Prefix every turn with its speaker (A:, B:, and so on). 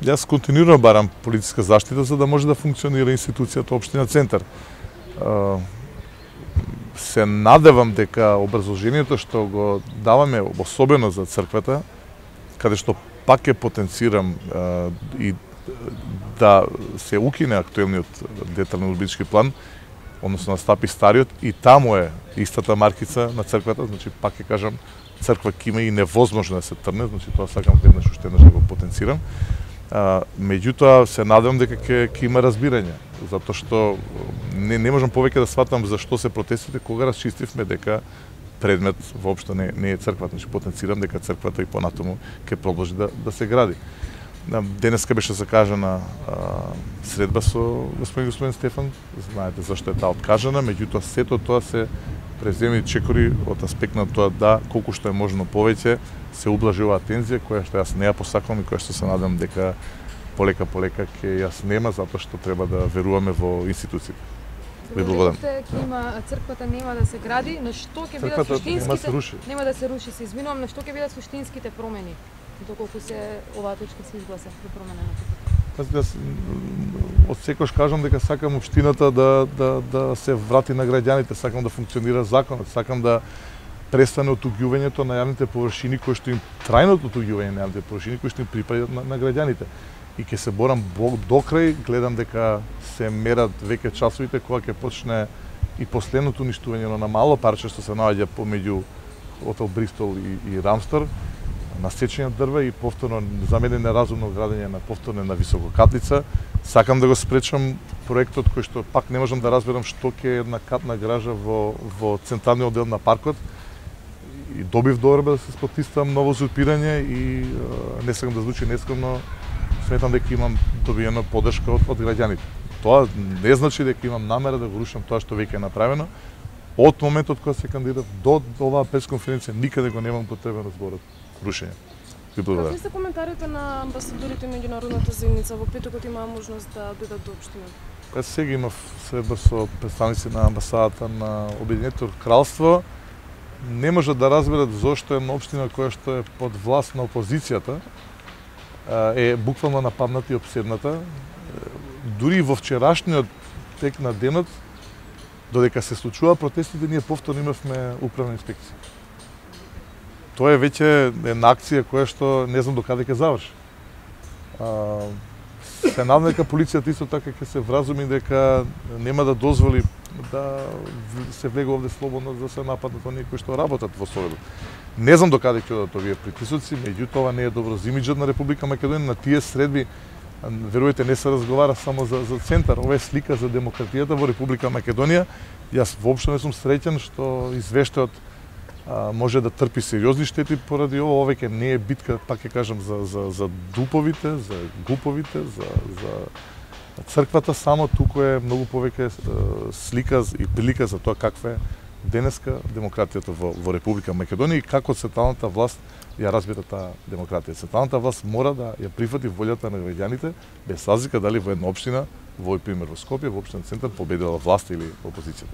A: Јас континуирано барам полициска заштита за да може да функционира институцијата општина Центар. Се надевам дека образложението што го даваме особено за црквата, каде што пак е потенцирам и да се укине актуелниот детален урбанистички план, односно настапи стариот, и таму е истата маркица на црквата, значи пак ќе кажам, црква ќе има и невозможно да се трне, значи тоа сакам уште еднаш да го потенцирам. Меѓутоа се надевам дека ќе има разбирање, затоа што не можам повеќе да сватам зашто се протестите кога расчистивме дека предмет воопшто не е црквата, значи потенцирам дека црквата и понатаму ќе продолжи да се гради. Денеска беше закажана средба со господин Стефан, знаете зашто е таа откажана, меѓутоа сето тоа се преземени чекори од аспект на тоа да колку што е можно повеќе се ублажи оваа тензија која што јас не ја посакувам и која што се надам дека полека ќе јас нема, затоа што треба да веруваме во институциите. Ви благодарам.
B: Црквата нема да се гради, на што ќе бидат суштинските? Нема да се руши, се извинувам, на што ќе бидат суштинските промени доколку се оваа точка се изгласа при промена на црквата?
A: Јас од секојаш кажам дека сакам општината да се врати на граѓаните, сакам да функционира законот, сакам да престане отуѓувањето на јавните површини кои што им трајното отуѓување на јавните површини кои што им припаѓаат на граѓаните. И ќе се борам до крај, гледам дека се мерат веќе часовите кога ќе почне и последното уништување на мало парче што се наоѓа помеѓу Хотел Бристол и Рамстар, насечење дрва и повторно за мене неразумно градење на повторно на висококатлица. Сакам да го спречам проектот кој што пак не можам да разберам што ќе е една катна гража во централниот дел на паркот. И добив доверба да се потистам ново узурпирање и не сакам да звучи нескромно, сметам дека имам добиено поддршка од граѓаните. Тоа не значи дека имам намера да го рушам тоа што веќе е направено. Од моментот кога се кандидатов до оваа пресконференција никаде го немам потребен зборот рушење. Ви благодарам.
C: Какви се коментарите на амбасадорите и меѓународната заедница во петокот имаа можност да дојдат до општината?
A: Сега имав средба со представници на амбасадата на Обединетото кралство. Не можат да разберат зошто една општина која што е под власт на опозицијата е буквално нападната и обседната. Дури во вчерашниот тек на денот, додека се случува протестите, ние повторно имавме управна инспекција. Тоа е веќе една акција која што не знам докаде ќе заврши. Се надам дека полицијата исто така ќе се вразуми дека нема да дозволи да се влезе овде слободно за да се нападнат оние кои што работат во Советот. Не знам докаде ќе одат овие притисоци, меѓутоа ова не е добро за имиџот на Република Македонија. На тие средби, верујте, не се разговара само за Центар, ова е слика за демократијата во Република Македонија. Јас воопшто не сум среќен што извештајот може да трпи сериозни штети поради ова. Ова веќе не е битка, пак ќе кажам, за дуповите, за глуповите, за црквата, само туку е многу повеќе слика и прилика за тоа каква е денеска демократијата во Република Македонија и како централната власт ја разбира таа демократија. Централната власт мора да ја прифати волјата на граѓаните, без разлика дали во една општина, во овој пример во Скопје, во општина Центар, победила власт или опозицијата.